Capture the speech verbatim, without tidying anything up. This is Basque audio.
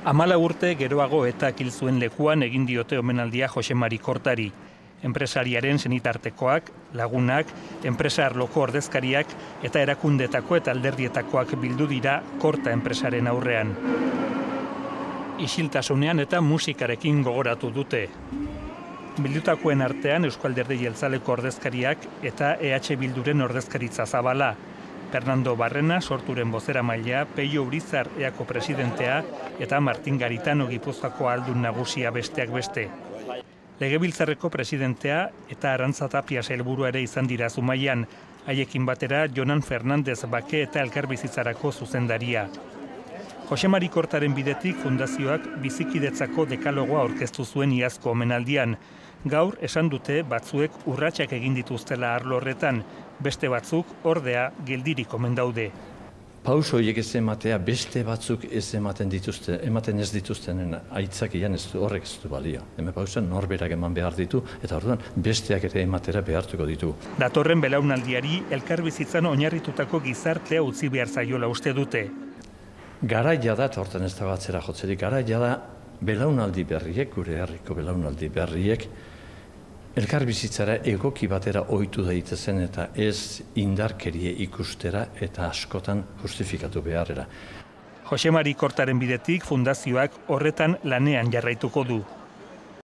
Amala urte geroago eta hil zuen lekuan egin diote omenaldia Jose Mari Kortari. Enpresariaren senitartekoak, lagunak, enpresa arloko ordezkariak eta erakundetako eta alderdietakoak bildu dira Korta enpresaren aurrean. Isiltasunean eta musikarekin gogoratu dute. Bildutakoen artean Eusko Alderdi Jeltzaleko ordezkariak eta E H Bilduren ordezkaritza zabala. Fernando Barrena sorturen bozeramailea, Peio Urizar eako presidentea eta Martin Garitano Gipuzkoako aldun nagusia besteak beste. Legebiltzarreko presidentea eta Arantza Tapia sailburua ere izan dira Zumaian, haiekin batera Jonan Fernandez Bake eta Elkarbizitzarako zuzendaria. Jose Mari Kortaren bidetik fundazioak bizikidetzako dekalogoa aurkeztu zuen iazko omenaldian. Gaur esan dute batzuek urratsak egin dituztela arlo horretan, beste batzuk ordea geldirik omen daude. Pauso horiek ez ematea beste batzuk ez ematen dituzte, ematen ez dituztenen aitzakian ez du horrek ez du balio. Hemen pausa norberak eman behar ditu eta orduan besteak ere ematera behartuko ditu. Datorren belaunaldiari elkarbizitzan oinarritutako gizartea utzi behar zaiola uste dute. Garaia da, eta hortan ez dago atzera jotzerik, garaia da belaunaldi berriek, gure herriko belaunaldi berriek, elkarbizitzara egoki batera ohitu daitezen eta ez indarkerie ikustera eta askotan justifikatu beharrera. Jose Mari Kortaren bidetik fundazioak horretan lanean jarraituko du.